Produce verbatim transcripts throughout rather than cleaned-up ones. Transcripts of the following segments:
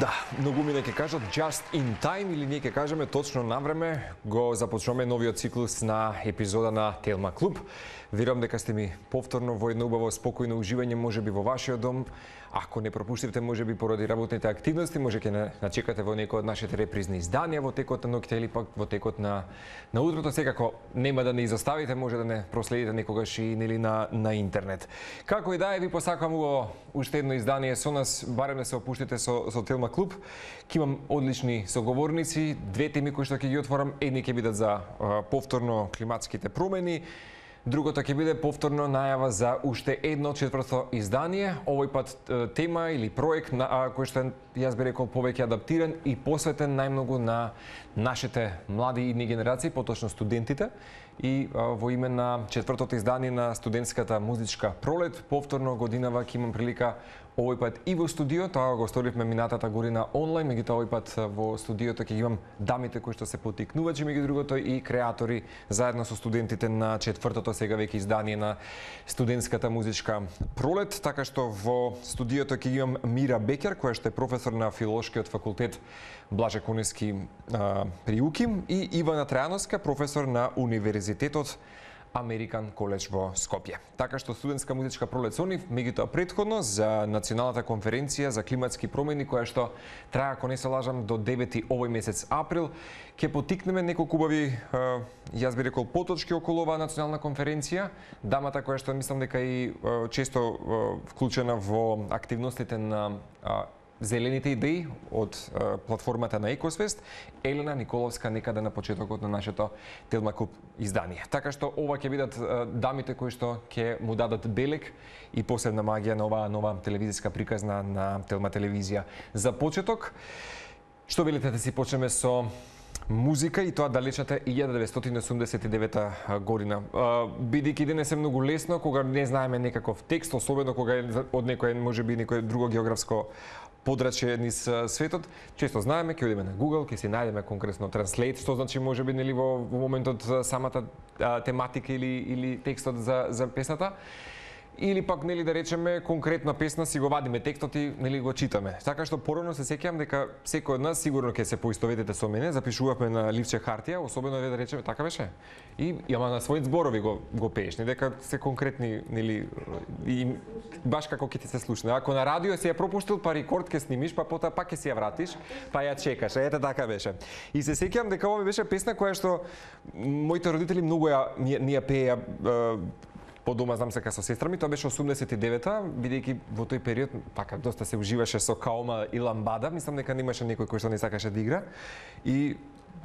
Да, многумина ќе кажат just in time или ние ќе кажеме точно на време го започнуваме новиот циклус на епизода на Телма Клуб. Верувам дека сте ми повторно во едно убаво спокојно уживање можеби во вашиот дом. Ако не пропуштивте можеби поради работните активности, може ќе начекате во некој од нашите репризни изданија во текот на ноќта или пак во текот на на утрото. Секако нема да не изоставите, може да не проследите некогаш и нели на на интернет. Како и да е, ви посакувам убаво уште едно издание со нас, барем да се опуштите со со Телма Клуб. Ќе имам одлични соговорници, две теми кои што ќе ги отворам, едни ќе бидат за а, повторно климатските промени. Другото ќе биде повторно најава за уште едно четврто издание, овој пат тема или проект на кој што јас би рекол повеќе адаптиран и посветен најмногу на нашите млади идни генерации, поточно студентите, и во име на четвртото издание на студентската музичка пролет, повторно годинава ќе имам прилика овој пат и во студио, тоа го сторивме минатата година онлайн, меѓутоа овој пат во студиото ќе имам дамите кои што се потикнувачи меѓу другото и креатори заедно со студентите на четвртото сега веќе издание на студентската музичка пролет, така што во студиото ќе имам Мира Бекер, која што е професор на филолошкиот факултет Блаже Коневски при УКИМ, и Ивана Трајановска, професор на Универзитетот Американ коледж во Скопје. Така што студентска музичка пролет со нив, меѓутоа претходно за националната конференција за климатски промени која што трае, ако не се лажам, до девети овој месец април, ќе потикнеме неколку убави, јас би рекол, поточки околу оваа национална конференција. Дамата која што мислам дека и често вклучена во активностите на Зелените идеи од uh, платформата на Екосвест, Елена Николовска, некаде на почетокот на нашето Телма Клуб издание. Така што ова ќе бидат uh, дамите кои што ќе му дадат белег и посебна магија на оваа нова телевизиска приказна на Телма телевизија. За почеток, што велите да си почнеме со музика, и тоа далечната илјада деветстотини осумдесет и девета година. Бидејќи денес е многу лесно кога не знаеме некаков текст, особено кога е од некој можеби некој друго географско подрачје низ светот, често знаеме, ќе одиме на Google, ќе си најдеме конкретно Translate, што значи можеби нели во, во моментот самата а, тематика или или текстот за за песната. Или пак нели да речеме конкретна песна си го вадиме текстот и нели го читаме. Така што порано се сеќавам дека секој од нас сигурно ќе се поистоветите со мене, запишувавме на ливче хартија, особено да речеме така беше. И ама на своите зборови го го пееш, не дека се конкретни нели и баш како ќе ти се слушне. Ако на радио си ја пропуштил, па рекорд ќе снимиш, па потоа пак ќе си ја вратиш, па ја чекаш. Ете така беше. И се сеќавам дека ова беше песна која што моите родители многу ја ни ја пееа по дома, знам дека со сестра ми, тоа беше осумдесет и девета, бидејќи во тој период така доста се уживаше со Каома и Ламбада, мислам дека немаше некој кој што не сакаше да игра. И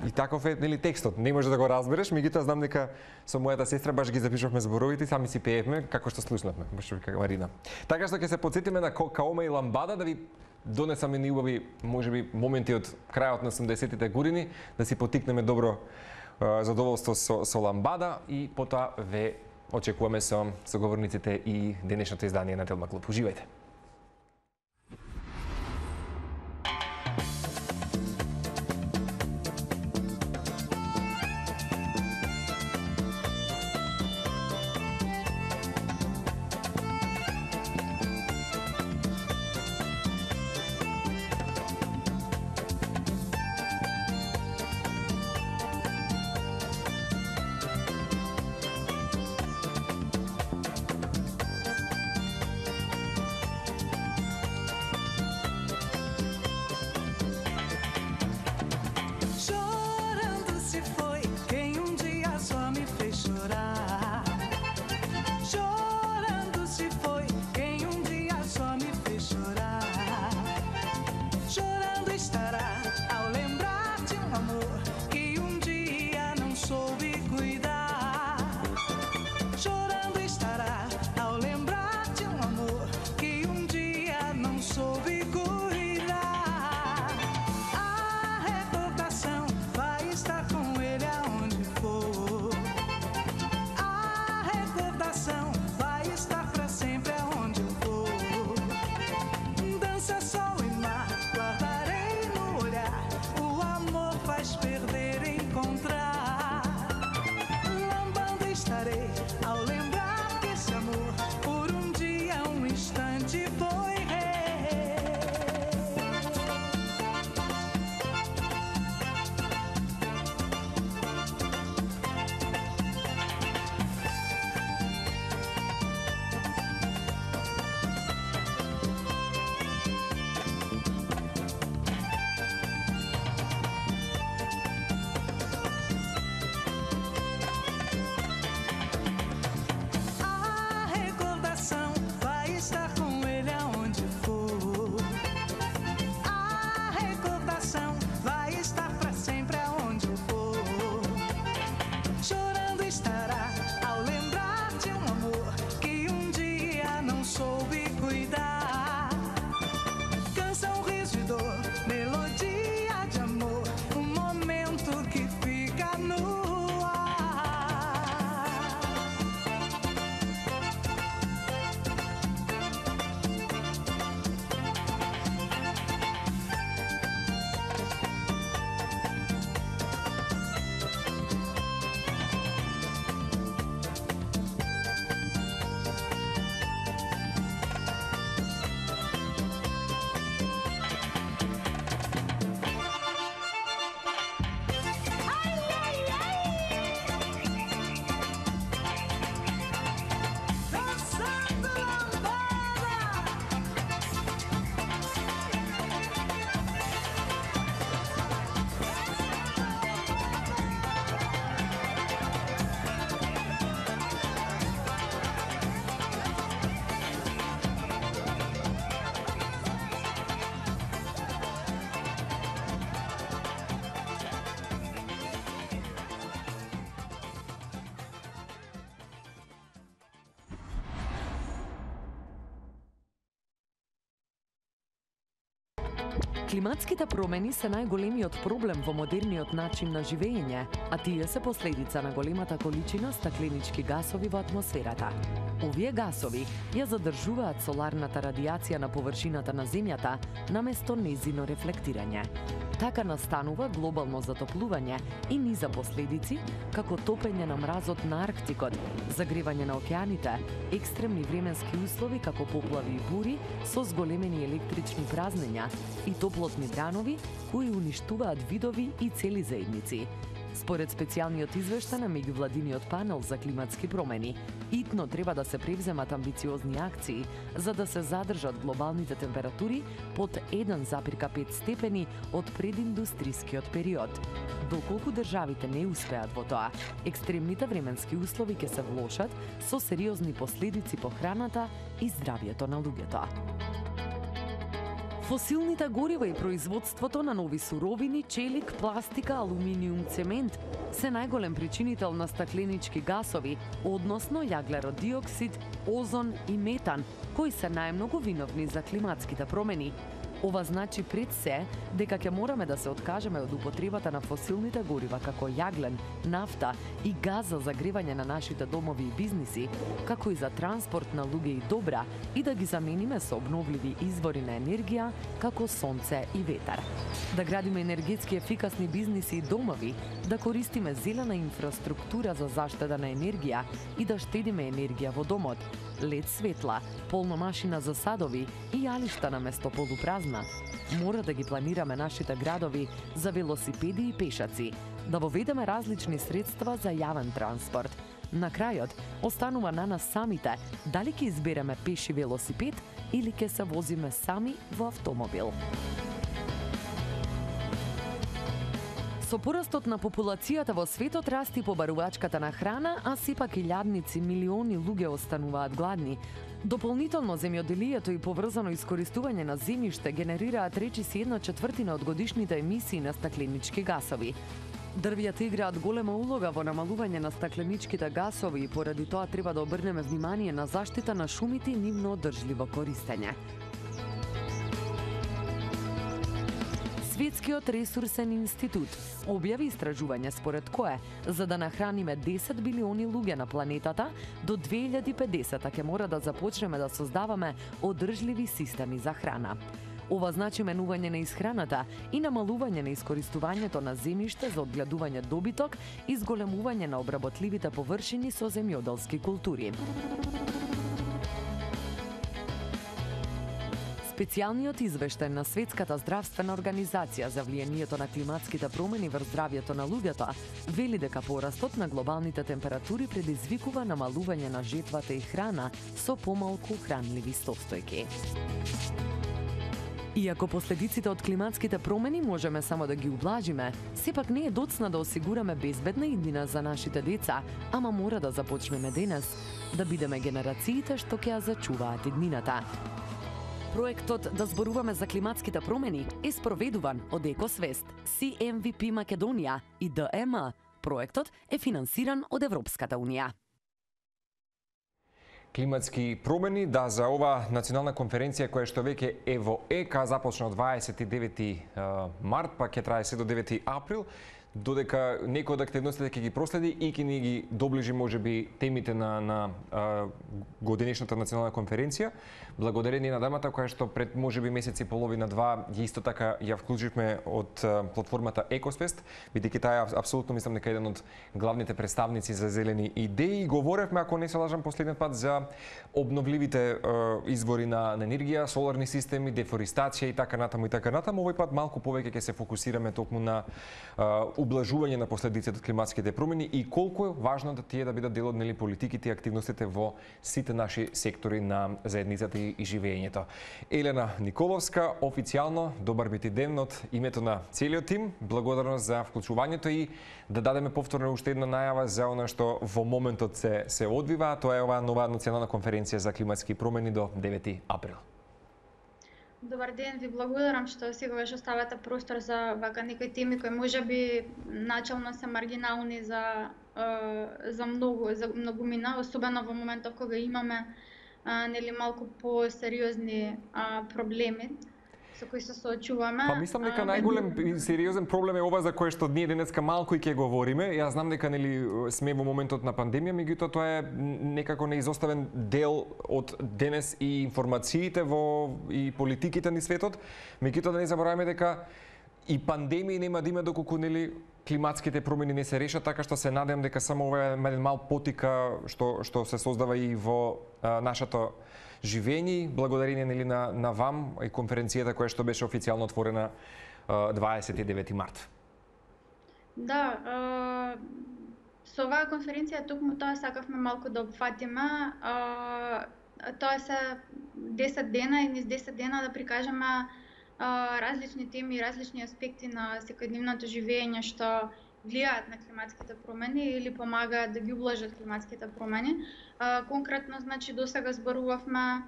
и таков е нели текстот, не може да го разбереш, меѓутоа знам дека со мојата сестра баш ги запишувавме зборовите и сами си пеевме како што слушнавме, баш како Марина. Така што ќе се потсетиме на Каома и Ламбада, да ви донесаме ни убави можеби моменти од крајот на осумдесетите години, да си потикнеме добро задоволство со со Ламбада и потоа ве очекуваме со соговорниците и денешното издание на Телма Клуб. Уживајте! Климатските промени се најголемиот проблем во модерниот начин на живење, а тие се последица на големата количина стакленички гасови во атмосферата. Овие гасови ја задржуваат соларната радијација на површината на земјата наместо нејзино рефлектирање. Така настанува глобално затоплување и низа последици, како топење на мразот на Арктикот, загревање на океаните, екстремни временски услови како поплави и бури со зголемени електрични празнења и топлотни бранови кои уништуваат видови и цели заедници. Според специјалниот извештај на меѓувладиниот панел за климатски промени, итно треба да се превземат амбициозни акции за да се задржат глобалните температури под еден запирка пет степени од прединдустрискиот период. Доколку државите не успеат во тоа, екстремните временски услови ќе се влошат со сериозни последици по храната и здравјето на луѓето. Фосилните горива и производството на нови суровини, челик, пластика, алуминиум, цемент се најголем причинител на стакленички гасови, односно јаглеродиоксид, озон и метан, кои се најмногу виновни за климатските промени. Ова значи пред се дека ќе мораме да се откажеме од употребата на фосилните горива како јаглен, нафта и газ за загревање на нашите домови и бизниси, како и за транспорт на луѓе и добра, и да ги замениме со обновливи извори на енергија како сонце и ветар. Да градиме енергетски ефикасни бизниси и домови, да користиме зелена инфраструктура за заштеда на енергија и да штедиме енергија во домот, лед светла, полна машина за садови и јалишта на место полупразна. Мора да ги планираме нашите градови за велосипеди и пешаци, да воведеме различни средства за јавен транспорт. На крајот, останува на нас самите дали ќе избереме пеши велосипед или ќе се возиме сами во автомобил. Со порастот на популацијата во светот расти побарувачката на храна, а сепак илјадници милиони луѓе остануваат гладни. Дополнително земјоделието и поврзано искористување на земјиште генерираат речиси една четвртина од годишните емисии на стакленички гасови. Дрвјата играат голема улога во намалување на стакленичките гасови и поради тоа треба да обрнеме внимание на заштита на шумите и нивно одржливо користење. Светскиот ресурсен институт објави истражување според кое, за да нахраниме десет билиони луѓе на планетата, до две илјади и педесета ќе мора да започнеме да создаваме одржливи системи за храна. Ова значи менување на исхраната и намалување на искористувањето на земјиште за одгледување добиток и зголемување на обработливите површини со земјоделски култури. Специјалниот извештај на Светската здравствена организација за влијанието на климатските промени врз здравјето на луѓето вели дека порастот на глобалните температури предизвикува намалување на жетвата и храна со помалку хранливи состојки. Иако последиците од климатските промени можеме само да ги ублажиме, сепак не е доцна да осигураме безбедна иднина за нашите деца, ама мора да започнеме денес, да бидеме генерациите што ќе ја зачуваат иднината. Проектот Да зборуваме за климатските промени е спроведуван од Екосвест, Си Ем Ви Пи Македонија и Д Е М. Проектот е финансиран од Европската Унија. Климатски промени, да, за ова национална конференција која што веќе е во ЕКА започна од дваесет и девети март, па ќе трае се до девети април, додека некои од активностите ќе ги проследи и ќе ни ги доближи можеби темите на на а, годинешната национална конференција. Благодарение на дамата која што пред можеби месец и половина два ги исто така ја вклучивме од а, платформата Екосвест, бидејќи таа е апсолутно мислам дека еден од главните представници за зелени идеи. Говоревме, ако не се лажам, последниот пат за обновливите а, извори на, на енергија, соларни системи, дефористација и така натаму и така натаму. Овој пат малку повеќе ќе се фокусираме токму на а, ублажување на последиците од климатските промени и колку е важно да тие да бидат дел од нели политиките и активностите во сите наши сектори на заедницата и живењето. Елена Николовска, официјално добар би ти ден од името на целиот тим. Благодарност за вклучувањето и да дадеме повторно уште една најава за она што во моментот се се одвива, тоа е оваа нова национална конференција за климатски промени до девети април. Добар ден, ви благодарам што секогаш оставате простор за вака некои теми кои можеби начално се маргинални за за многу за многумина, особено во моментов кога имаме а, нели малку посериозни а, проблеми со кои се соочуваме. Па мислам дека најголем и сериозен проблем е ова за кое што ние денеска малку и ќе говориме. Јас знам дека нели сме во моментот на пандемија, меѓутоа тоа е некако неизоставен дел од денес и информациите во и политиките ни светот. Меѓутоа да не забораваме дека и пандемија нема да има доколку нели климатските промени не се решат, така што се надевам дека само ова е еден мал потика што што се создава и во а, нашето живење, благодарение нели на на вам и конференцијата која што беше официјално отворена дваесет и девети март. Да, е, со оваа конференција токму тоа сакавме малку да опфатиме. Е, тоа се десет дена и низ десет дена да прикажеме различни теми и различни аспекти на секојдневното живење што влијаат на климатските промени или помагаат да ги ублажат климатските промени. А, конкретно, значи, досега зборувавме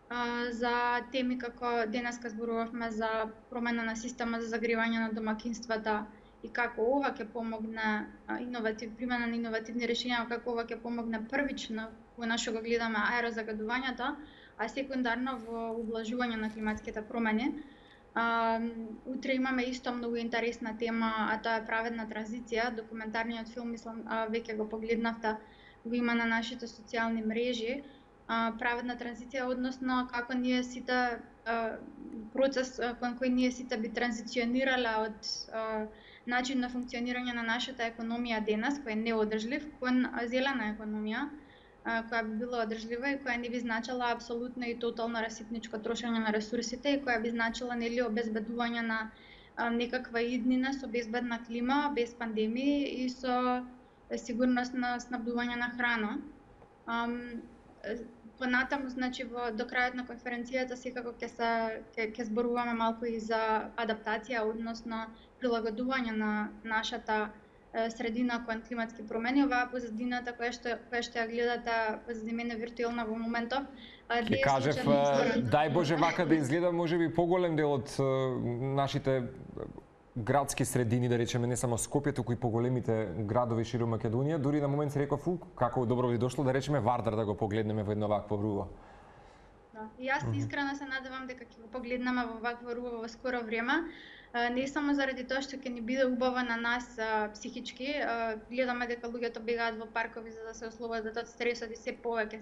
а, за теми како денеска зборувавме за промена на система за загревање на домакинствата и како ова ќе помогне а, иноватив, примена на иновативни решенја, како ова ќе помогне првично во нашо го гледаме аерозагадувањето, а секундарно во ублажување на климатските промени. Uh, утре имаме исто многу интересна тема, а тоа е праведна транзиција. Документарниот филм, мислам, uh, веќе го погледнавте, го има на нашите социјални мрежи. Uh, праведна транзиција, односно како ние сите uh, процес uh, кон кој ние сите би транзиционирале од uh, начин на функционирање на нашата економија денес, кој е неодржлив, кон зелена економија, која би била одржлива и која не би значила апсолутно и тотално расипничко трошење на ресурсите и која би значила нели обезбедување на а, некаква иднина со безбедна клима, без пандемии и со сигурност на снабдување на храна. Ам, понатаму, значи, во до крајот на конференцијата секако ќе се ќе, ќе зборуваме малку и за адаптација, односно прилагодување на нашата средина кон климатски промени. Оваа позадината која што која што ја гледате позади мене виртуелна во моментов. Ќе кажев, дај Боже вака да изгледа можеби поголем дел од нашите градски средини, да речеме, не само Скопје, туку и поголемите градови широм Македонија. Дури на момент се реков, како добро ви дошло, да речеме Вардар да го погледнеме во едно вакво руво. Да, и јас искрено се надевам дека ќе го погледнеме во вакво руво во скоро време. Не само заради тоа што ќе ни биде убаво на нас а, психички, а, гледаме дека луѓето бегаат во паркови за да се ослободат од стресот и се повеќе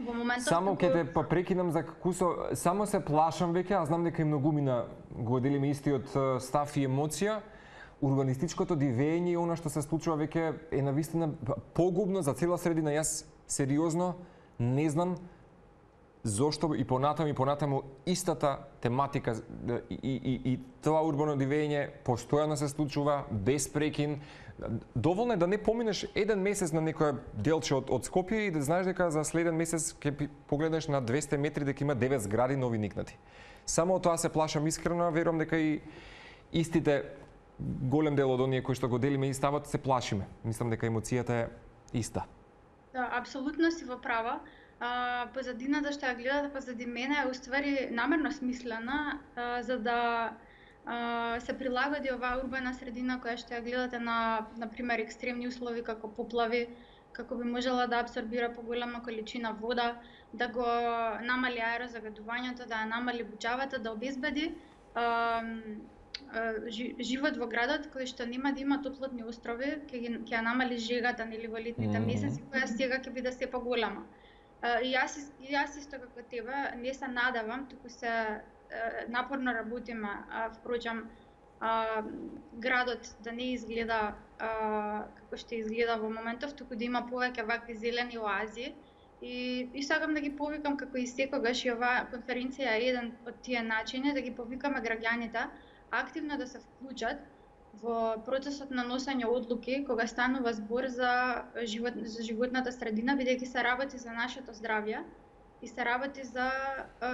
во моментот. Само ќе те па прекинам за кусо, само се плашам веќе, а знам дека и многумина го делиме истиот став и емоција. Урбанистичкото дивење и она што се случува веќе е навистина погубно за цела средина. Јас сериозно не знам зошто и понатаму и понатаму истата тематика и, и, и тоа урбано дивење постојано се случува без прекин. Доволно е да не поминеш еден месец на некој делче од, од Скопје и да знаеш дека за следен месец ќе погледнеш на двесте метри дека има девет згради нови никнати. Само од тоа се плашам искрено, верувам дека и истите голем дел од оние кои што го делиме и ставот се плашиме. Мислам дека емоцијата е иста. Да, апсолутно си во права. А, позадината што ја гледате позади мене е уствари намерно смислена, а, за да а, се прилагоди оваа урбана средина која што ја гледате на, например, екстремни услови како поплави, како би можела да абсорбира поголема количина вода, да го намали аерозагадувањето, да ја намали буџавата, да обезбеди а, а, живот во градот кој што нема да има топлотни острови, ќе ќе ја намали жегата нели во летните Mm. месеци, која сега ќе биде се поголема. Uh, и јас, и јас исто како тебе не се надевам, туку се uh, напорно работиме, uh, впрочем, uh, градот да не изгледа uh, како што изгледа во моментов, туку да има повеќе вакви зелени оази. И, и сакам да ги повикам, како и секогаш, и оваа конференција е еден од тие начини, да ги повикаме граѓаните активно да се вклучат во процесот на носење одлуки кога станува збор за живот за животната средина, бидејќи се работи за нашето здравје и се работи за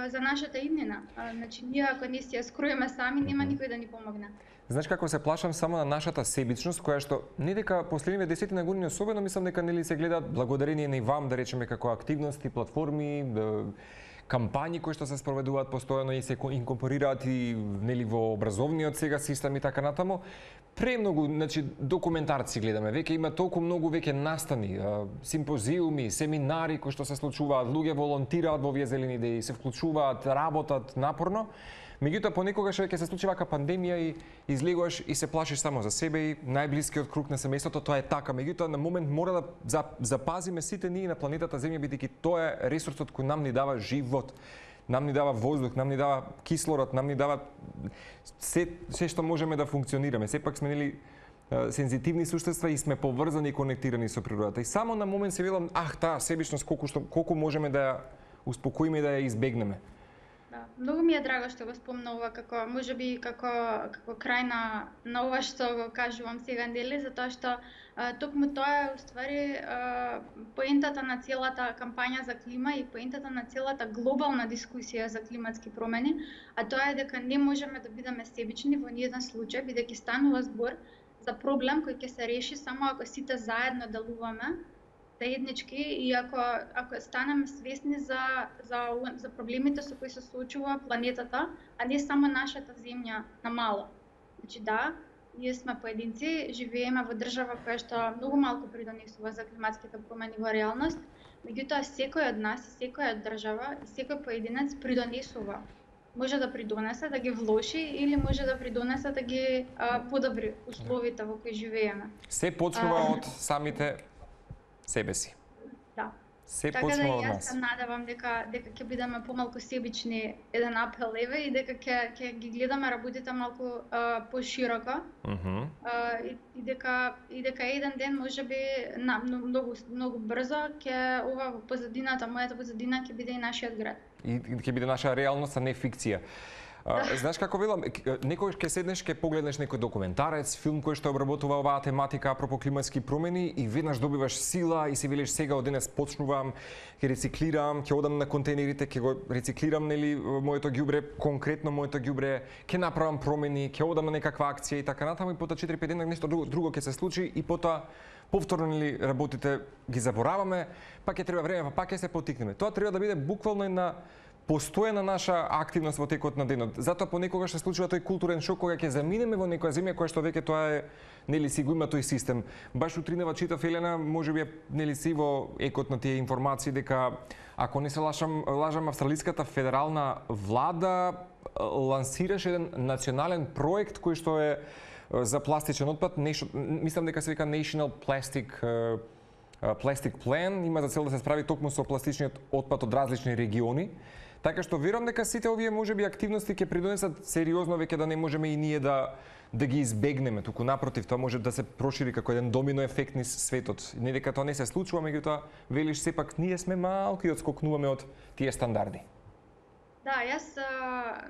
за нашата иднина. Значи ние ако не си ја скроиме сами, нема никој да ни помогне. Знаеш како се плашам само на нашата себичност, која што не дека последниве десетина години особено мислам дека нели се гледаат благодарение на и вам, да речеме, како активности, платформи, кампањи кои што се спроведуваат постојано и се инкорпорираат и нели во образовниот сега систем и така натаму. Премногу, значи, документарци гледаме, веќе има толку многу веќе настани, симпозиуми, семинари кои што се случуваат, луѓе волонтираат во овие зелени идеи, се вклучуваат, работат напорно. Меѓутоа понекогаш ќе се случи вака пандемија и излегуваш и се плашиш само за себе и најблискиот круг на семејството, тоа е така. Меѓутоа на момент мора да запазиме сите ние на планетата Земја, бидејќи тоа е ресурсот кој нам ни дава живот. Нам ни дава воздух, нам ни дава кислород, нам ни дава се, се што можеме да функционираме. Сепак сме нели сензитивни суштества и сме поврзани и конектирани со природата. И само на момент се велам, ах, таа себичност колку што колку можеме да ја успокоиме и да ја избегнеме. Да, многу ми е драго што го спомнува како можеби како како крај на на ова што го кажувам сега, нели, затоа што а, токму тоа е уствари а, поентата на целата кампања за клима и поентата на целата глобална дискусија за климатски промени, а тоа е дека не можеме да бидеме себични во ниеден случај, бидејќи станува збор за проблем кој ќе се реши само ако сите заедно делуваме заеднички и ако ако станеме свесни за за за проблемите со кои се соочува планетата, а не само нашата земја на мало. Значи да, ние сме поединци, живееме во држава која што многу малку придонесува за климатските промени во реалност, меѓутоа секој од нас, секоја држава и секој поединец придонесува. Може да придонесе да ги влоши или може да придонесе да ги а, подобри условите во кои живееме. Се почнува а, од самите себе си. Да. Се така почнува да од јас нас. се надевам дека дека ќе бидеме помалку себични, еден апел еве, и дека ќе ќе ги гледаме работите малку а, пошироко. Mm -hmm. а, и, и дека и дека еден ден можеби на многу многу брзо ќе ова во позадината, мојата позадина ќе биде и нашиот град. И ќе биде наша реалност, а не фикција. Uh, знаеш како велам, некогаш ќе седнеш, ќе погледнеш некој документарец, филм кој што обработува оваа тематика апропо климатски промени и веднаш добиваш сила и си велиш сега од денес почнувам, ќе рециклирам, ќе одам на контейнерите, ќе го рециклирам нели моето ѓубре, конкретно моето ѓубре, ќе направам промени, ќе одам на некаква акција и така натаму и потоа четири пет дена нешто друго, друго ќе се случи и потоа повторно нели работите ги забораваме, па ќе треба време, па ќе се потикнеме. Тоа треба да биде буквално на постојана наша активност во текот на денот. Затоа понекогаш се случува тој културен шок кога ќе заминеме во некоја земја која што веќе тоа е нели си го има тој систем. Баш утринава читав Елена, можеби нели си во екот на тие информации дека ако не се лажам, лажам австралиската федерална влада лансираше еден национален проект кој што е за пластичен отпад, нешто, мислам дека се вика National Plastic Plastic Plan, има за цел да се справи токму со пластичниот отпад од различни региони. Така што верувам дека сите овие можеби активности ќе придонесат сериозно веќе да не можеме и ние да да ги избегнеме, туку напротив, тоа може да се прошири како еден домино ефект низ светот. Не дека тоа не се случува, меѓутоа велиш сепак ние сме малку и одскокнуваме од тие стандарди. Да, јас а,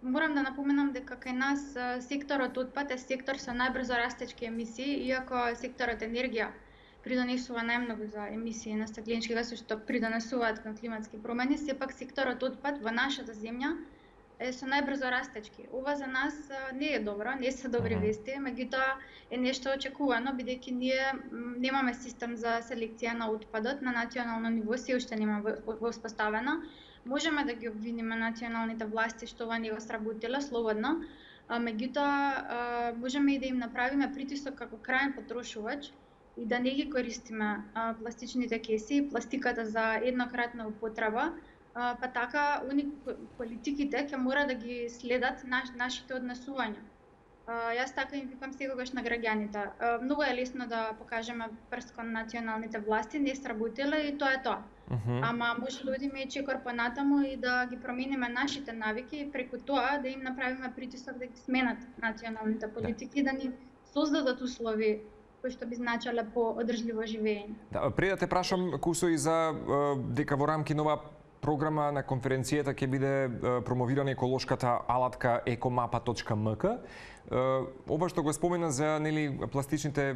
морам да напоменам дека кај нас а, секторот отпад е сектор со најбрзо растечки емисии, иако секторот енергија придонесува најмногу за емисии на стакленички гаси што придонесуваат кон климатски промени, сепак секторот отпад во нашата земја е со најбрзо растечки. Ова за нас не е добро, не се добри вести, меѓутоа е нешто очекувано, бидејќи ние немаме систем за селекција на отпадот на национално ниво, се уште нема воспоставена. Можеме да ги обвиниме националните власти што ова не го сработило слободно, меѓутоа можеме и да им направиме притисок како крајен потрошувач и да не ги користиме а, пластичните кеси, пластиката за еднократна употреба, а, па така уни политиките ќе мора да ги следат наш, нашите однесувања. А, јас така им викам секогаш на граѓаните. А, многу е лесно да покажеме прст кон националните власти, не сработило и тоа е тоа. Uh -huh. Ама може да одиме и чекор понатаму и да ги промениме нашите навики и преку тоа да им направиме притисок да ги сменат националните политики, да ни создадат услови кои што би значеле по одржливо живење. Да, пред да те прашам, Кусо, и за дека во рамки на оваа програма на конференцијата ќе биде промовирана еколошката алатка екомапа точка ем ка. Ова што го спомена за нели пластичните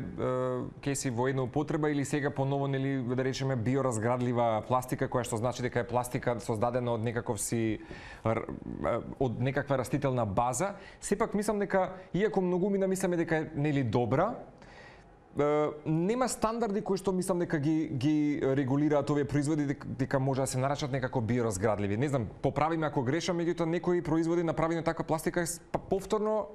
кеси во една употреба или сега поново нели да речеме биоразградлива пластика, која што значи дека е пластика создадена од некаков си од некаква растителна база, сепак мислам дека иако многумина мислиме дека е нели добра, нема стандарди кои што мислам дека ги ги регулираат овие производи дека, дека може да се нарачат некако биоразградливи. Не знам, поправиме ако грешам, меѓутоа некои производи направени од таква пластика повторно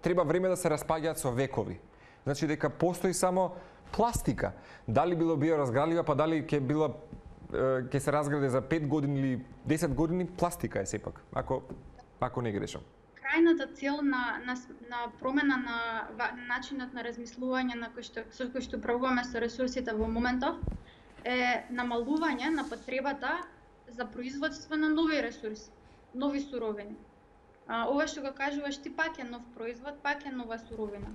треба време да се распаѓаат со векови. Значи дека постои само пластика. Дали било биоразградлива, па дали ќе била ќе се разгради за пет години или десет години, пластика е сепак. Ако Ако не грешам. Крајната цел на, на, на промена на, на начинот на размислување на кој што, со кој што управуваме со ресурсите во моментов е намалување на потребата за производство на нови ресурси, нови суровини. А, ова што го кажуваш ти пак е нов производ, пак е нова суровина.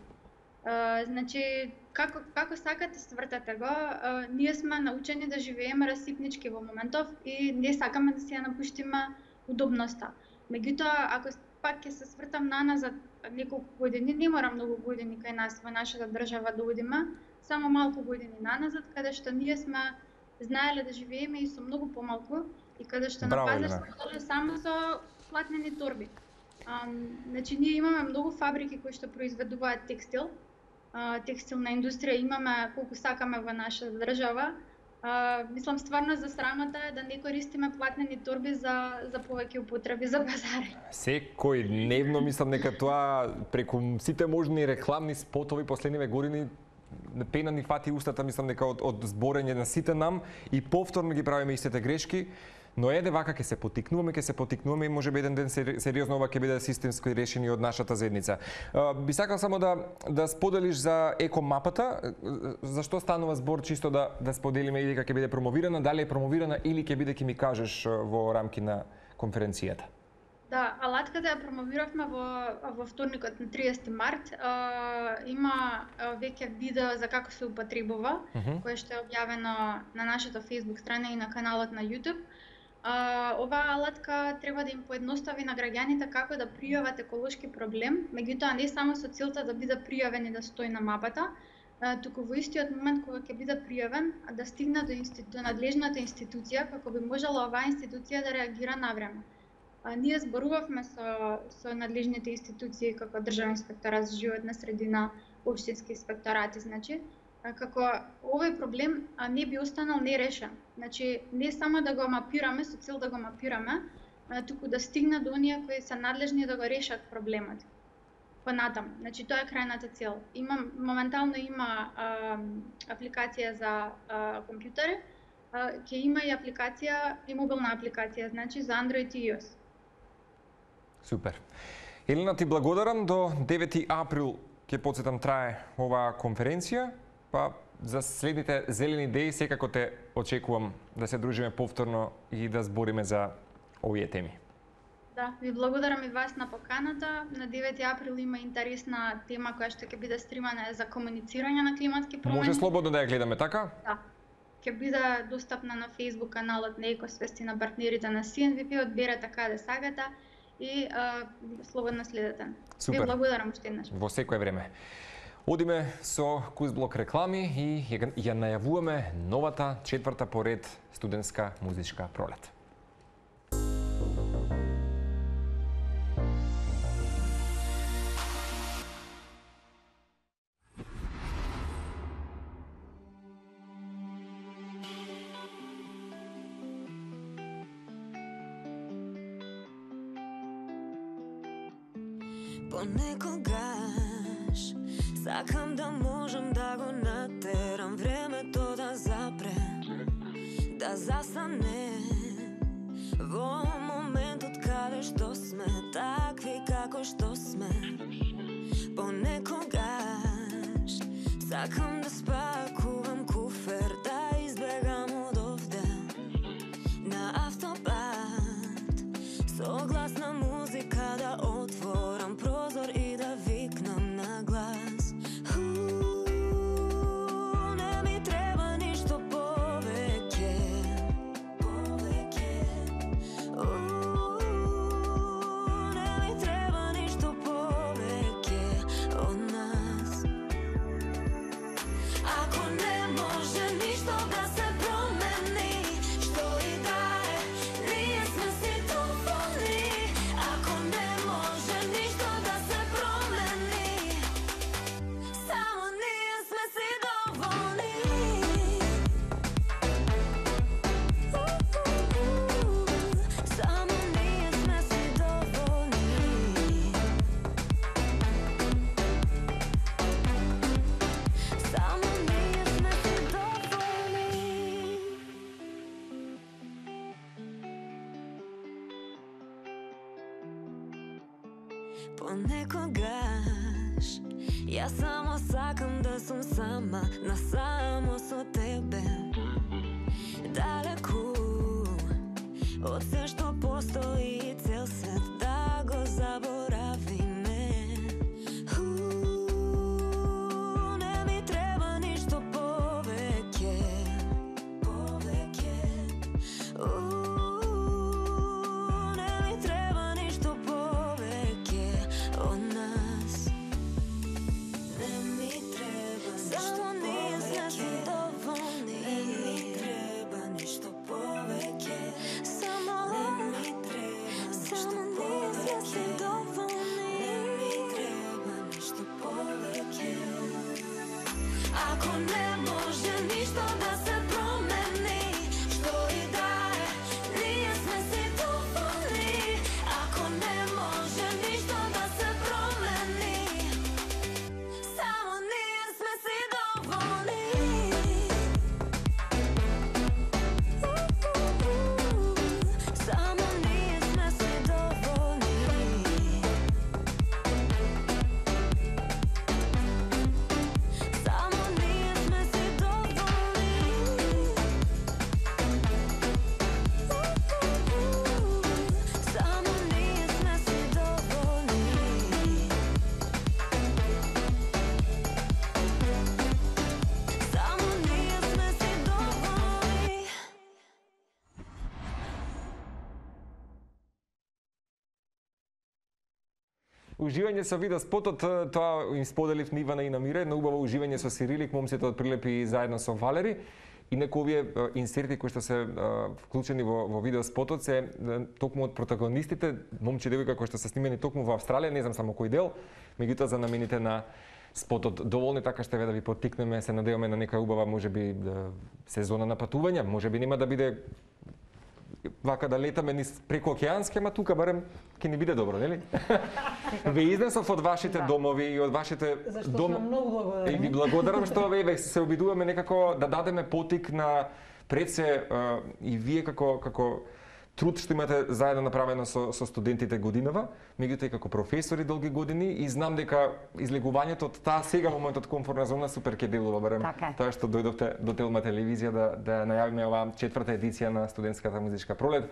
А, значи, како, како сакате свртате го, а, ние сме научени да живееме расипнички во моментов и не сакаме да си ја напуштиме удобноста. Меѓутоа, ако пак ќе се свртам наназад неколку години, не мора многу години кај нас во нашата држава да одиме, само малку години наназад, каде што ние сме знаеле да живееме и со многу помалку и каде што на пазар сме дошле само со платнени торби. А, значи, ние имаме многу фабрики кои што произведуваат текстил, а, текстилна индустрија имаме колку сакаме во нашата држава. А, мислам, стварно за срамата е да не користиме платнени торби за, за повеќе употреби за пазари. Секој дневно мислам дека тоа преку сите можни рекламни спотови последниве години пена ни фати устата, мислам дека од, од зборење на сите нам и повторно ги правиме истите грешки. Но еде вака ќе се потикнуваме, ќе се потикнуваме и можеби еден ден сериозно ова ќе биде системско решение од нашата заедница. Би сакал само да да споделиш за екомапата, зашто станува збор чисто да да споделиме и дека ќе биде промовирана, дали е промовирана или ќе биде ќе ми кажеш во рамки на конференцијата. Да, алатката ја промовиравме во во вторникот на триесети март. А, има веќе видео за како се употребува, uh -huh. кое што е објавено на нашата Facebook страна и на каналот на YouTube. А, оваа алатка треба да им поедностави на граѓаните како да пријават еколошки проблем, меѓутоа не само со целта да биде пријавен и да стои на мапата, а, туку во истиот момент кога ќе биде пријавен, да стигне до, институ... до надлежната институција, како би можела оваа институција да реагира навреме. А, ние зборувавме со, со надлежните институции, како Државен инспекторат за животна средина, општински инспекторати, значи, како овој проблем а, не би останал нерешен. Значи, не само да го мапираме, со цел да го мапираме, а, туку да стигне до оние кои се надлежни да го решат проблемот. Понатам, значи тоа е крајната цел. Има, моментално има а, апликација за а, компјутери, а, ќе има и апликација, и мобилна апликација, значи за Android и iOS. Супер. Елена, ти благодарам. До девети април ќе потсетам трае оваа конференција. Па за следните зелени идеи секако те очекувам да се дружиме повторно и да збориме за овие теми. Да, ви благодарам и вас на поканата. На девети април има интересна тема која што ќе биде стримана за комуницирање на климатски промени. Може слободно да ја гледаме, така? Да. Ќе биде достапна на Facebook каналот на Екосвести на партнерите на Си Ен Ви Пи, одберете каде сагата и а, слободно следете. Супер. Ви благодарам уште еднаш. Во секое време. Одиме со Кузблок реклами и ја најавуваме новата четврта поред студентска музичка пролет. Понекогаш сакам да можам да го натерам времето да запре, да застане во моментот каде што сме, такви како што сме. Понекогаш сакам да спакувам куфер, да избегам од овде на автобат, со гласна музика да отворам прозор и да викнам на глас. Не ми треба ништо повеќе, повеќе. Не ми треба ништо повеќе од нас. Понекогаш јас само сакам да сум сама, насамо со тебе, далеку од се што постои и цел свет да го заборавиме. Не ми треба ништо повеќе, повеќе. Не ми треба ништо повеќе од нас. Не ми треба ништо само ние сме си доволни. Не ми треба ништо повеќе. Само не ми треба ништо повеќе. Доволни. Не ми треба ништо повеќе. Ако не може ништо да се промени, што и да е, ние сме си доволни. Ако не може ништо да се промени, само ние сме си доволни. Само ние сме си доволни. Само ние сме си доволни. Само ние сме си доволни. Само ние сме си доволни. Уживање со видео спотот, тоа им споделив на Ивана и на Мире, но убаво уживање со Сирилик, момците од Прилепи заедно со Валери. Инаку овие е, инсерти кои што се е, вклучени во, во видео спотот се е, токму од протагонистите, момче и девојка кои што се снимени токму во Австралија, не знам само кој дел, меѓутоа за намените на спотот доволни, така што да ви поттикнеме, се надеваме на нека убава можеби да, сезона на патувања, можеби нема да биде вака да летаме низ преку океански, ама тука барем ќе ни биде добро, нели? Ве изнесов од вашите домови и од вашите Зашто дом... сме многу благодарни. И ви благодарам што ве се обидуваме некако да дадеме потик на пред се а, и вие како како труд што имате заедно направено со, со студентите годинава, меѓутоа и како професори долги години, и знам дека излегувањето од таа сега моментот комфортна зона супер ке делува, барем Така е. тоа што дојдовте до Телма телевизија да да најавиме оваа четврта едиција на студентската музичка пролет.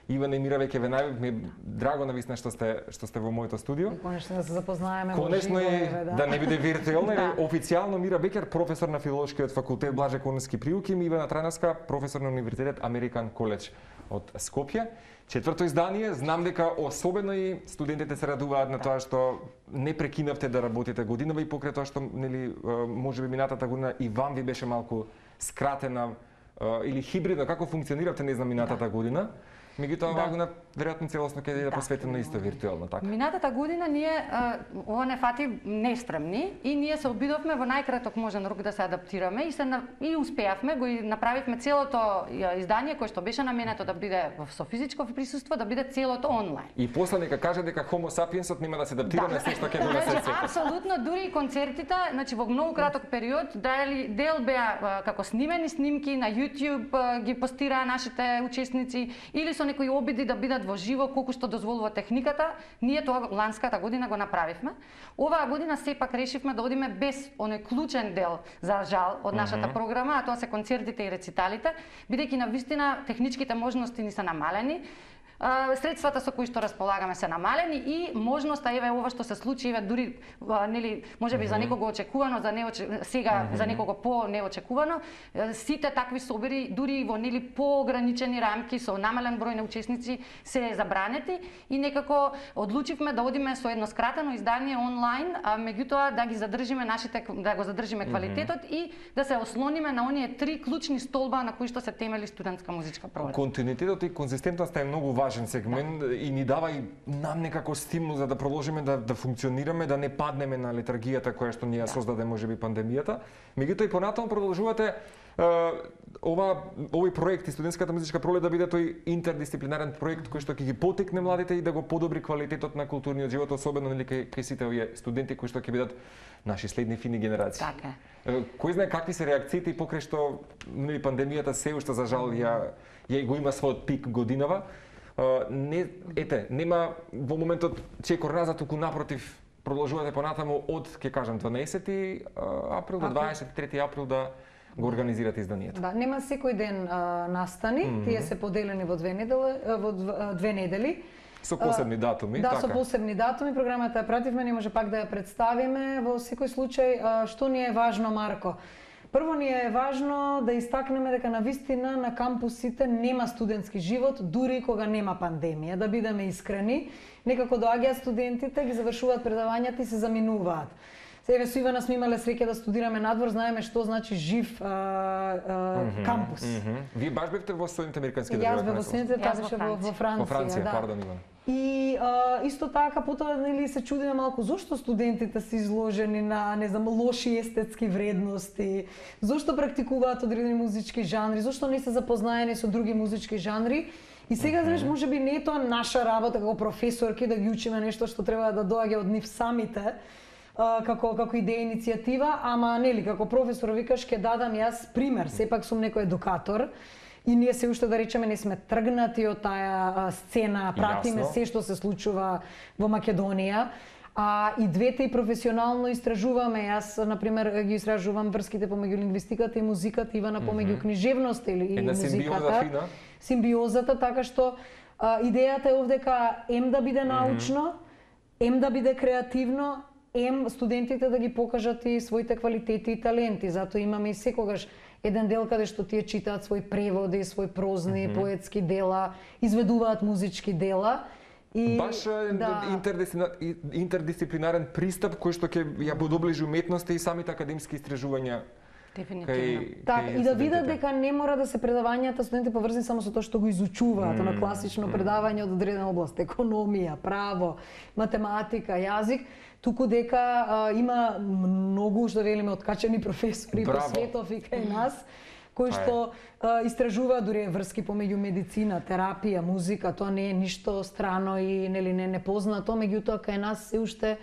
Ивана и Мира веќе ве најавив, ми е драго навистина што сте што сте во моето студио. Конечно да се запознаеме. Конечно и да не биде виртуелно, Да. официјално Мира Бекер, професор на филолошкиот факултет Блаже Конски приуки, и Ивана Трајновска, професор на Универзитет Американ Коледж од Скопје. Четврто издание, знам дека особено и студентите се радуваат на тоа што не прекинавте да работите годинава и покрај тоа што нели можеби минатата година и вам ви беше малку скратена или хибридно, како функциониравте, не знам, минатата година. Меѓутоа оваа година веројатно целосно ќе биде посветено исто виртуелно, така. Минатата година ние а, ова не фати неспремни и ние се обидовме во најкраток можен рок да се адаптираме и се на, и успеавме, го и направивме целото ја, издание кое што беше наменето да биде со физичко присуство, да биде целото онлайн. И после нека каже дека Homo sapiensот нема да се адаптира на се што ќе донесе Значи, секој. апсолутно, дури и концертите, значи во многу краток период, дали дел беа а, како снимени снимки на YouTube, а, ги постираа нашите учесници, или со некои обиди да бидат во живо колку што дозволува техниката. Ние тоа ланската година го направивме. Оваа година сепак решивме да одиме без оној клучен дел, за жал, од нашата програма, а тоа се концертите и рециталите, бидејќи навистина техничките можности ни се намалени. Средствата со кои што располагаме се намалени и можноста, еве ова што се случи, еве дури нели можеби mm -hmm. за некого очекувано, за неоче... сега mm -hmm. за некого по неочекувано, сите такви собери дури во нели поограничени рамки со намален број на учесници се забранети и некако одлучивме да одиме со едно скратено издание онлайн, а меѓутоа да ги задржиме нашите да го задржиме квалитетот mm -hmm. и да се ослониме на оние три клучни столба на кои што се темели студентска музичка пролет. Континуитетот и конзистентноста е многу важен сегмент да. И ни дава и нам некако стимул за да продолжиме да, да функционираме, да не паднеме на летаргијата која што ни ја создаде можеби пандемијата. Меѓутоа и понатаму продолжувате Uh, ова овој проект и студентската музичка пролет да биде тој интердисциплинарен проект кој што ќе ги потикне младите и да го подобри квалитетот на културниот живот, особено нели кај, кај сите овие студенти кои што ќе бидат наши следни фини генерации. Така е. Uh, кој знае какви се реакциите и покрај што нели пандемијата се уште за жал ја ја го има својот пик годинава. не, ете, нема во моментот чекор назад, туку напротив, продолжувате понатаму од, ќе кажам, дванаесети април до дваесет и трети април да го организирате изданието. Да, нема секој ден а, настани, mm -hmm. тие се поделени во две недели, во две недели. Со посебни датуми, да, така. со посебни датуми, програмата ја пративме, не може пак да ја представиме. Во секој случај, а, што ни е важно, Марко? Прво ни е важно да истакнеме дека на вистина на кампусите нема студентски живот, дури кога нема пандемија. Да бидеме искрени, некако доаѓаат студентите, ги завршуваат предавањата и се заминуваат. Еве со Ивана сме имале среќа да студираме надвор, знаеме што значи жив а, а, mm -hmm, кампус. Mm -hmm. Вие баш бевте во Соединените американски држави? Јас бев во Соединените, таа беше во, во Франција. Во Франција, да. пардон, Ивана. И а, исто така потоа нели се чудиме малку зошто студентите се изложени на, не знам, лоши естетски вредности, зошто практикуваат одредени музички жанри, зошто не се запознаени со други музички жанри. И сега, знаеш, може би не е тоа наша работа како професорки да ги учиме нешто што треба да доаѓа од нив самите, како како идеја иницијатива, ама нели како професор викаш ќе дадам јас пример, сепак сум некој едукатор и ние се уште да речеме не сме тргнати од таа сцена, пратиме Јасно. се што се случува во Македонија. А и двете и професионално истражуваме. Јас, например, ги истражувам врските помеѓу лингвистиката и музиката, Ивана помеѓу книжевноста или и Една симбиоза музиката. фина. Симбиозата, така што а, идејата е овдека ем да биде научно, ем да биде креативно, ем студентите да ги покажат и своите квалитети и таленти. Затоа имаме и секогаш еден дел каде што тие читаат свои преводи, свои прозни, mm -hmm. поетски дела, изведуваат музички дела. И, Баш да. интердисциплинарен пристап кој што ќе ја подоближи уметноста и самите академски истражувања. Дефинитивно. Така, и да видат дека не мора да се предавањата студенти поврзани само со тоа што го изучуваат, mm, на класично mm. предавање од одредена област, економија, право, математика, јазик, туку дека а, има многу, што велиме, откачени професори по светов и кај нас, кои што а, истражуваат дури врски помеѓу медицина, терапија, музика, тоа не е ништо страно и нели не непознато, меѓутоа кај нас се уште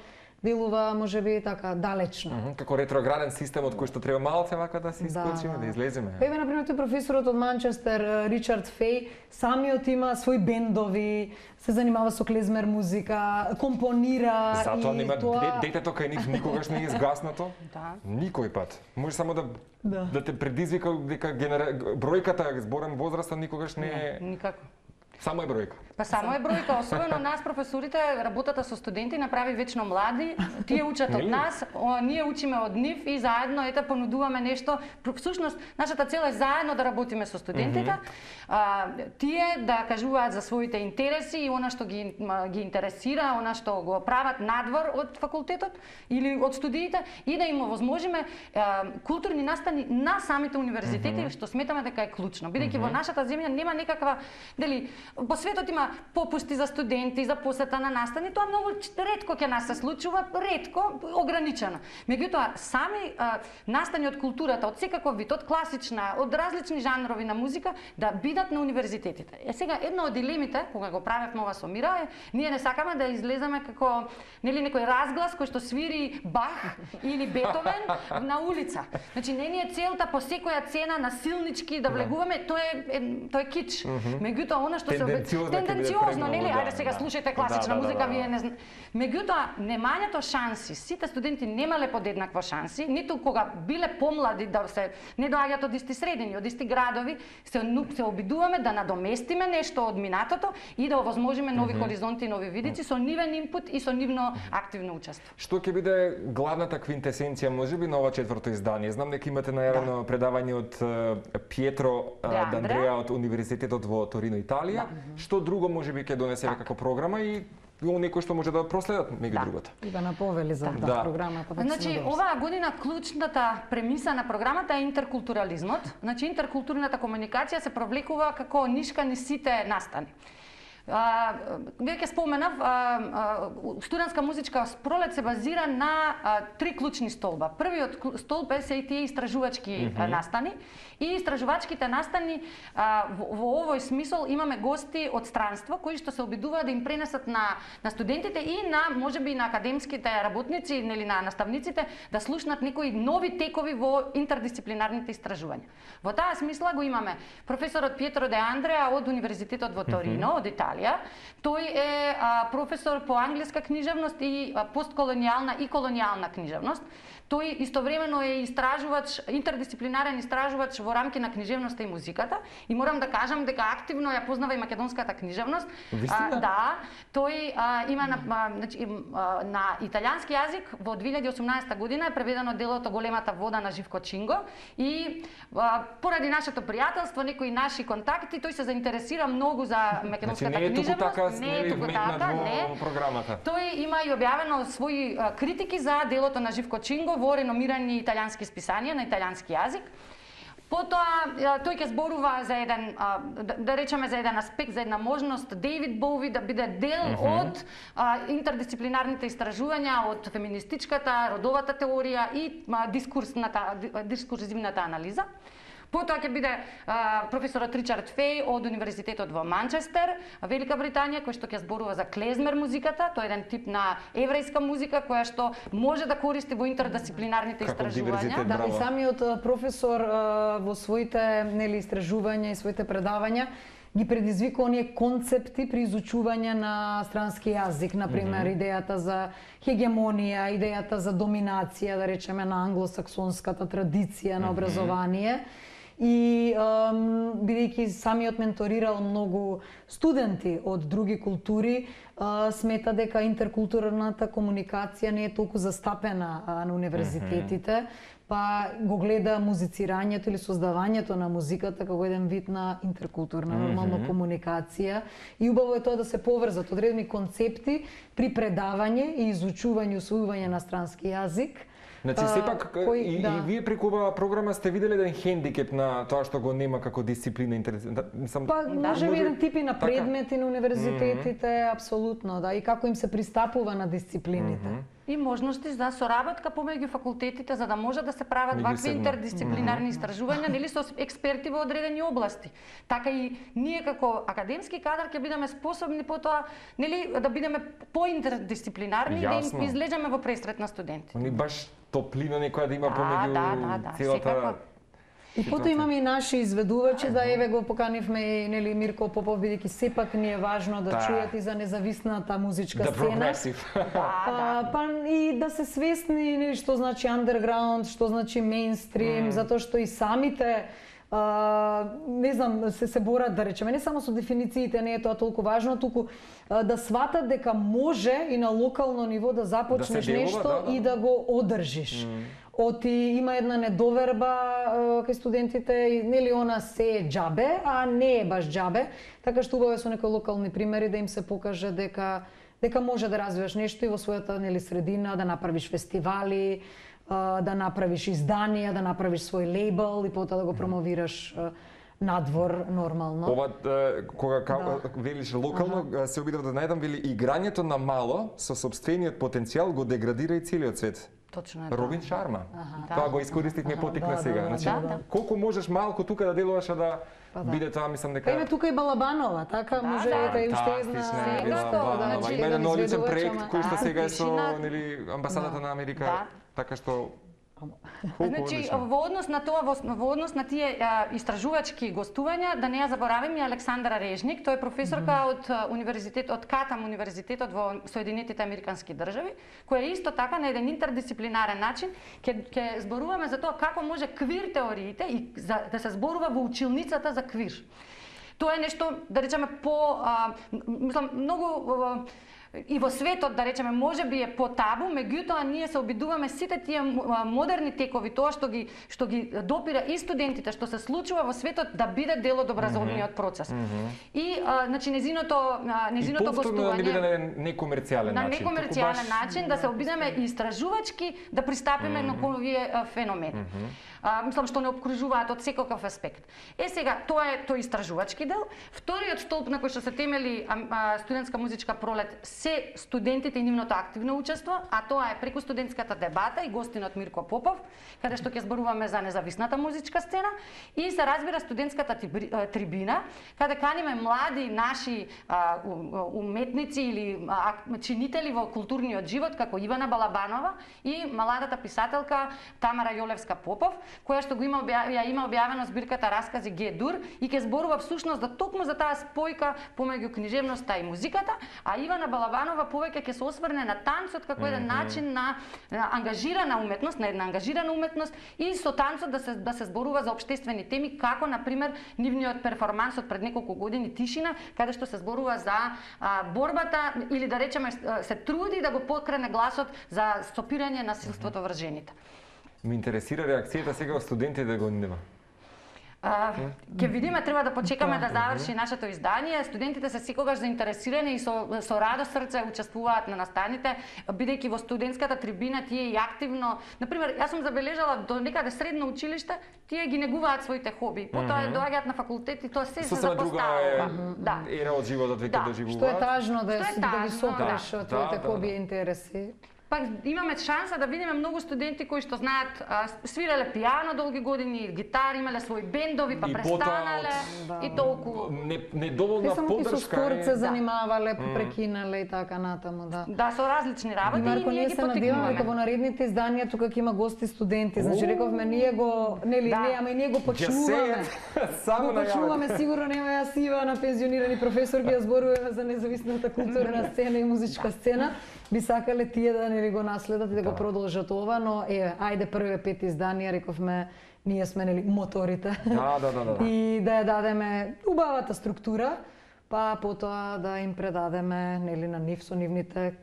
делува можеби така далечно. Mm -hmm, како ретрограден систем од кој што треба малце вака да се исклучиме, да, да излеземе. Еве на пример тој професорот од Манчестер, Ричард Феј, самиот има свои бендови, се занимава со клезмер музика, компонира. Затоа и нема тоа... детето кај нив никогаш не е изгаснато. Да. Никој пат. Може само да да, да те предизвика дека генера... бројката, зборам возраста, никогаш не е... Не, никако. Само е бројка. Па само е бројка, особено нас професорите, работата со студенти направи вечно млади, тие учат од нас, о, ние учиме од нив и заедно ете понудуваме нешто. Всушност нашата цел е заедно да работиме со студентите. Mm -hmm. а, тие да кажуваат за своите интереси и она што ги ги интересира, она што го прават надвор од факултетот или од студиите и да им овозможиме а, културни настани на самите универзитети, mm -hmm. што сметаме дека е клучно, бидејќи mm -hmm. во нашата земја нема некаква, дели, по светот има попусти за студенти, за посета на настани, тоа многу ретко ќе нас се случува, ретко, ограничено. Меѓутоа, сами а, настани од културата, од секаков вид, од класична, од различни жанрови на музика, да бидат на универзитетите. Е сега, една од дилемите, кога го правевме ова со Мира, е, ние не сакаме да излеземе како, нели, некој разглас кој што свири Бах или Бетовен на улица. Значи, не ни е целта по секоја цена насилнички да влегуваме, тоа е, тоа е кич. Меѓутоа, она што се тенденциозно, нели? Ајде сега слушајте класична музика, вие не знаете. Меѓутоа, немањето шанси, сите студенти немале подеднакво шанси, ниту кога биле помлади да се не доаѓаат од исти средини, од исти градови, се се обидуваме да надоместиме нешто од минатото и да овозможиме нови хоризонти, нови видици со нивен инпут и со нивно активно учество. Што ќе биде главната квинтесенција можеби на ова четврто издание? Знам дека имате најавено да. предавање од Пиетро Д'Андреа од Универзитетот во Торино, Италија. Да. Што друго можеби ќе донесеме како програма и некој што може да проследат меѓу да. другото. И да наповели за да. да. програмата. Значи, оваа година клучната премиса на програмата е интеркултурализмот. Значи, интеркултурната комуникација се провлекува како нишка низ сите настани. Вие ќе споменав, а, а, студентска музичка пролет се базира на а, три клучни столба. Првиот столб е се и тие истражувачки mm -hmm. настани и истражувачките настани а, во, во овој смисол имаме гости од странство кои што се обидуваат да им пренесат на на студентите и на можеби на академските работници или на наставниците да слушнат некои нови текови во интердисциплинарните истражувања. Во таа смисла го имаме професорот Пиетро Де Андреа од Универзитетот во Торино, mm -hmm. од Италија, Италија. Тој е а, професор по англиска книжевност и а, постколонијална и колонијална книжевност. Тој истовремено е истражувач, интердисциплинарен истражувач во рамки на книжевноста и музиката и морам да кажам дека активно ја познава и македонската книжевност. Вистина? А, да, тој а, има на, а, значи, а, на италијански јазик во две илјади и осумнаесета година е преведено делото Големата вода на Живко Чинго и а, поради нашето пријателство, некои наши контакти, тој се заинтересира многу за македонската значи, не е книжевност. Туку така, не е туку така, не. Програмата. Тој има и објавено своји а, критики за делото на Живко Чинго во реномирани италијански списанија на италијански јазик. Потоа тој ќе зборува за еден, да, да речеме за еден аспект, за една можност Дејвид Боуи да биде дел uh -huh. од а, интердисциплинарните истражувања, од феминистичката, родовата теорија и а, дискурсната, дискурзивната анализа. Потоа ќе биде а, професорот Ричард Феј од Универзитетот во Манчестер, Велика Британија, кој што ќе зборува за клезмер музиката. Тоа е еден тип на еврејска музика која што може да користи во интердисциплинарните истражувања. Да, и самиот професор а, во своите нели истражувања и своите предавања ги предизвика оние концепти при изучување на странски јазик, на пример mm -hmm. идејата за хегемонија, идејата за доминација, да речеме на англосаксонската традиција на образование. Mm -hmm. И бидејќи самиот менторирал многу студенти од други култури, а, смета дека интеркултурната комуникација не е толку застапена а, на универзитетите, mm -hmm. па го гледа музицирањето или создавањето на музиката како еден вид на интеркултурна нормална mm -hmm. комуникација. И убаво е тоа да се поврзат одредени концепти при предавање и изучување и усвојување на странски јазик. Значи, сепак, кој, и, да. и вие преку оваа програма сте виделе еден хендикеп на тоа што го нема како дисциплина интересна. Да, сам, па, може би еден типи на предмети така? На универзитетите, mm -hmm. апсолутно, да, и како им се пристапува на дисциплините. Mm -hmm. И можности за соработка помеѓу факултетите за да може да се прават вакви интердисциплинарни истражувања, нели со експерти во одредени области. Така и ние како академски кадар ќе бидеме способни потоа, нели, да бидеме поинтердисциплинарни, да им излеземе во пресрет на студенти. Они баш топлина некоја да има да, помеѓу да, да, да, целата... Секако. И потоа имаме и наши изведувачи, да еве го поканивме и нели Мирко Попов, бидејќи сепак ни е важно да, да. чујат и за независната музичка да, сцена. Да, да. Па и да се свесни нели што значи андерграунд, што значи мејнстрим, mm. затоа што и самите Uh, не знам, се се борат, да речеме, не само со дефинициите, не е тоа толку важно, туку uh, да сватат дека може и на локално ниво да започнеш да делува, нешто да, да. И да го одржиш. Mm. Оти има една недоверба uh, кај студентите, и нели она се е џабе, а не е баш џабе, така што убаво е со некои локални примери да им се покаже дека дека може да развиваш нешто и во својата нели средина, да направиш фестивали, да направиш изданија, да направиш свој лейбл и потоа да го промовираш надвор нормално. Ова кога да. велиш локално, ага. се обидов да најдам, вели играњето на мало со собствениот потенцијал го деградира и целиот свет. Точно е. Робин да. Шарма. Ага. Тоа го искористивме потикна да, сега. да, Значи, да, да. колку можеш малку тука да делуваш да па, да. биде тоа, мислам дека... Има тука и Балабанова, така да, може да, да и уште една... Балабанова. Значи, Има еден одличен проект кој што да, сега е со тишина... нели амбасадата да. на Америка, да. така што Значи, во однос на тоа, во, во однос на тие а, истражувачки гостувања, да не ја заборавим и Александра Режник, тој е професорка mm -hmm. од универзитет, од Катам универзитетот во Соединетите Американски држави, која исто така на еден интердисциплинарен начин ќе ќе зборуваме за тоа како може квир теориите и за, да се зборува во училницата за квир. Тоа е нешто, да речеме, по а, мислам многу а, и во светот, да речеме, може би е по-табу, меѓутоа ние се обидуваме сите тие модерни текови, тоа што ги што ги допира и студентите, што се случува во светот, да биде дел од образовниот процес. Mm -hmm. И а, значи незиното незиното гостување да биде на некомерцијален на начин. На некомерцијален начин да се обидеме истражувачки да пристапиме mm -hmm. на овие феномени. Mm -hmm. А, мислам што не обкружуваат од секој аспект. Е сега, тоа е тој истражувачки дел. Вториот столб на кој што се темели а, а, студентска музичка пролет се студентите и нивното активно учество, а тоа е преку студентската дебата и гостинот Мирко Попов, каде што ќе зборуваме за независната музичка сцена, и се разбира студентската трибина, каде каниме млади наши а, уметници или а, чинители во културниот живот, како Ивана Балабанова и младата писателка Тамара Јолевска Попов, која што го има ја има објавено збирката Раскази Г-дур и ќе зборува всушност да токму за таа спојка помеѓу книжевноста и музиката, а Ивана Балабанова повеќе ќе се осврне на танцот како еден начин на, на ангажирана уметност, на една ангажирана уметност и со танцот да се да се зборува за општествени теми, како на пример нивниот перформанс од пред неколку години Тишина, каде што се зборува за а, борбата или да речеме се труди да го покрене гласот за стопирање насилството врз жените. Ме интересира реакцијата сега од студентите да го нема. Uh, ќе видиме, треба да почекаме да заврши нашето издание. Студентите се секогаш заинтересирани и со, со радост срце учествуваат на настаните, бидејќи во студентската трибина тие и активно, например, јас сум забележала до некаде средно училиште, тие ги негуваат своите хоби. Потоа mm -hmm. доаѓаат на факултет и тоа се се запоставува. Да. Ера од животот веќе да. доживуваат. Што е тажно да, е да ги сопреш да. твоите да, хоби да. и интереси. Пак имаме шанса да видиме многу студенти кои што знаат, а, свиреле пијано долги години, гитари, имале свои бендови, па и престанале да. и толку. Не, недоволна поддршка. Те само со спорт се да. занимавале, прекинале и така натаму, да. Да, со различни работи и, Марко, и ние ги се надеваме дека поттикнуваме. во наредните изданија тука ќе има гости студенти. Значи рековме ние го, нели, Да. не, ама и ние го почнуваме. Само Го почнуваме, сигурно нема јас Ива на пензионирани професор ќе зборуваме за независната културна сцена и музичка сцена. Би сакале тие да нели го наследат и да, да го продолжат ова, но е, ајде првите пет изданија, рековме, ние сме нели моторите. Да, да, да, да. И да ја дадеме убавата структура, па потоа да им предадеме нели на нив со нивните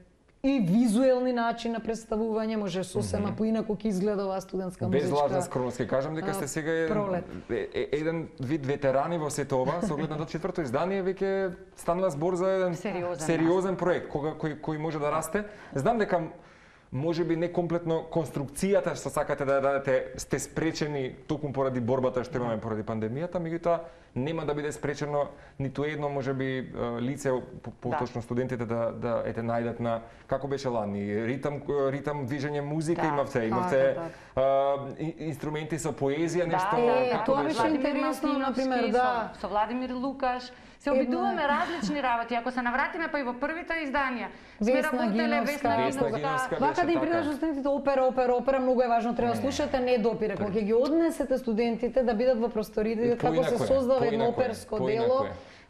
и визуелни начин на представување, може сосема mm -hmm. поинаку ќе изгледа оваа студентска Без музичка. лажна скромност ќе кажам дека сте сега е, е, еден вид ветерани во сето ова, со оглед на до четврто издание веќе станува збор за еден сериозен, сериозен проект кога кој кој може да расте. Знам дека може би некомплетно конструкцијата што сакате да ја дадете сте спречени токму поради борбата што имаме поради пандемијата, меѓутоа нема да биде спречено ниту едно можеби лице, поточно студентите да да ете најдат на како беше лани ритам ритам движење музика, да, имавте имавте да, да. инструменти со поезија, нешто е, како тоа беше беше интересно, например, да, со, со Владимир Лукаш. Се обидуваме различни работи. Ако се навратиме па и во првите изданија, сме работеле Весна Гиновска. Вака да им придаш студентите опера, опера, опера, многу е важно, треба да слушате, не допира. Кога ќе ги однесете студентите да бидат во просторите, како се создава едно оперско дело,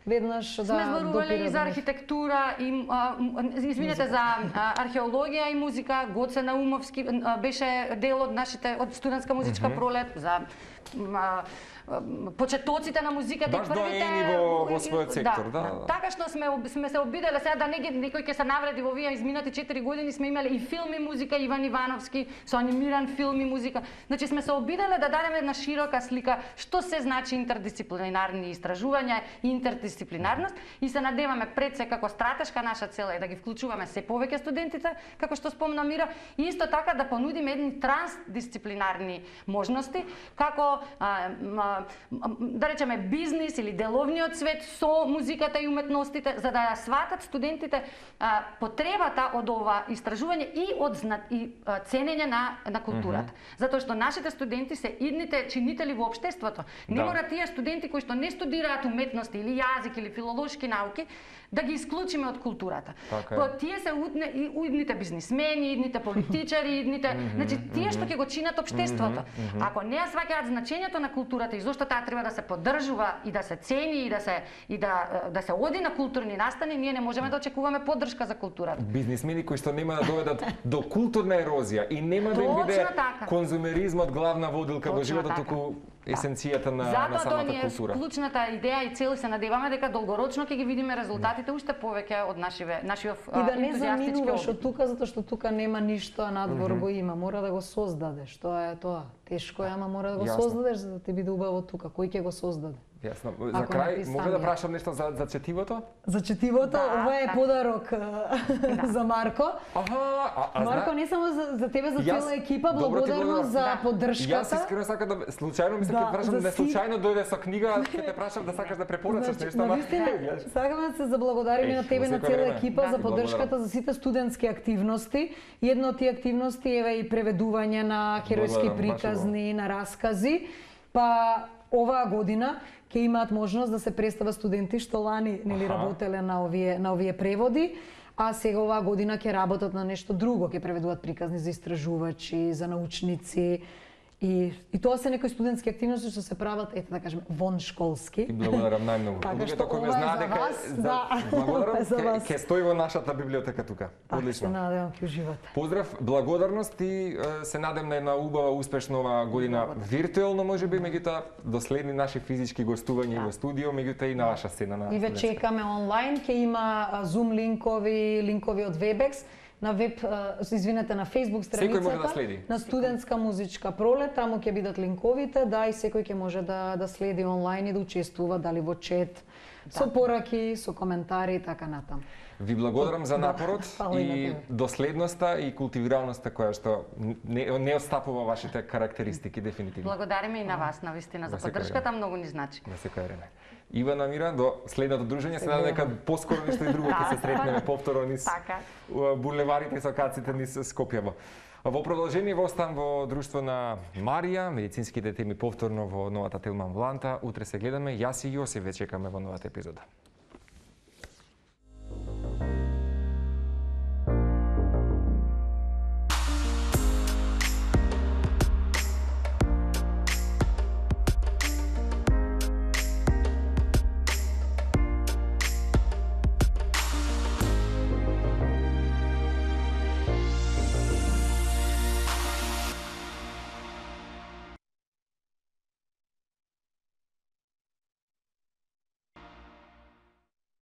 веднаш да сме зборувале и за архитектура и а, извинете за а, археологија и музика. Гоце Наумовски а, беше дел од нашите од студентска музичка mm -hmm. пролет за а, почетоците на музиката баш и првите во, во својот сектор, да, да, да. Така што сме сме се обиделе сега да не ги некој ќе се навреди во овие изминати четири години сме имале и филм и музика Иван Ивановски со анимиран филм и музика. Значи сме се обиделе да дадеме една широка слика што се значи интердисциплинарни истражувања и интердисциплинарност и се надеваме пред се како стратешка наша цел е да ги вклучуваме се повеќе студентите, како што спомна Мира, и исто така да понудиме едни трансдисциплинарни можности како а, а, да речеме бизнис или деловниот свет со музиката и уметностите, за да ја сватат студентите а, потребата од ова истражување и од зна... и а, ценење на на културата. Mm -hmm. Затоа што нашите студенти се идните чинители во општеството. Не да. Мора тие студенти кои што не студираат уметности или јазик или филолошки науки да ги исклучиме од културата. По тие се удне, и идните бизнисмени, идните политичари, идните, mm -hmm, значи тие што ќе го чинат општеството. Mm -hmm. Ако не ја сваќаат значењето на културата и зошто таа треба да се поддржува и да се цени и да се и да да се оди на културни настани, ние не можеме да очекуваме поддршка за културата. Бизнисмени кои што нема да доведат до културна ерозија и нема да им биде конзумеризмот главна водилка во животот, туку есенцијата на, Затоа на самата тоа култура. Затоа е клучната идеја и цел, се надеваме дека долгорочно ќе ги видиме резултатите уште повеќе од нашиве нашиот ентузијастички. И да не заминуваш од тука затоа што тука нема ништо, а надвор mm -hmm. го има, мора да го создадеш. Тоа е тоа. Тешко е, ама мора да го Јасно. создадеш за да ти биде убаво тука. Кој ќе го создаде? Јасно. За Ако крај, не мога да писање. прашам нешто за, за четивото? За четивото, Да, ова е да. подарок а, за Марко. Аха, а, а Марко, зна- не само за, за тебе, за Јас- цела екипа, Добро ти благодарност благодарам. за Да. Јас поддршката. искрено сакам да случајно ми се Да, ќе прашам за да си- случајно дојде со книга, ќе те прашам да сакаш да препорачаш Значи, нешто, ама навистина, сакаме да се заблагодариме Еј, на тебе во и на секое цела време. екипа Да. за Ти поддршката благодарам. за сите студентски активности. Една од тие активности е и преведување на херојски Благодарам, баш приказни, на раскази. Па оваа година ќе имаат можност да се представат студенти што лани нели Аха. работеле на овие на овие преводи, а сега оваа година ќе работат на нешто друго, ќе преведуваат приказни за истражувачи, за научници. И, и тоа се некои студентски активности што се прават, ете да кажеме, вон школски. Ти благодарам најмногу. Така Луѓето што кои ме ова е знаат за дека вас, за- да. благодарам, Ова е за ке- вас. ќе стои во нашата библиотека тука. Така, се Одлично. надевам ќе уживате. Поздрав, благодарност и е, се надем на една убава, успешна оваа година виртуелно можеби, меѓутоа до следни наши физички гостувања и во студио, меѓутоа и на ваша сцена на И ве студентска. чекаме онлайн, ќе има а, Zoom линкови, линкови од Webex, на веб, а, извинете, на Facebook Секој може да страницата следи. на студентска музичка пролет, таму ќе бидат линковите, да, и секој ќе може да да следи онлайн и да учествува дали во чет, со пораки, со коментари и така натаму. Ви благодарам за Да, напорот фала и на и тебе. доследноста и култивираноста која што не, не отстапува вашите карактеристики дефинитивно. Благодариме и на вас, на вистина, за На секој поддршката, многу ни значи. На секој време. Ивана Мира, до следното дружење, се надам дека поскоро нешто и друго ќе се сретнеме повторно низ Така. у, булеварите и сокаците низ Скопје. Во продолжение во остан во друштво на Марија, медицинските теми повторно во новата Телман Вланта. Утре се гледаме, јас и Јосиф ве чекаме во новата епизода.